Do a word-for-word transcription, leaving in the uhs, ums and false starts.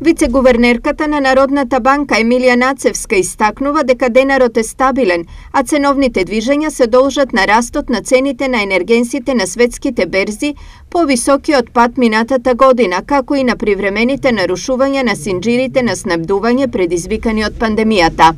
Вице-гувернерката на Народната банка Емилија Нацевска истакнува дека денарот е стабилен, а ценовните движења се должат на растот на цените на енергенсите на светските берзи, повисокиот пат минатата година, како и на привремените нарушувања на синџирите на снабдување предизвикани од пандемијата.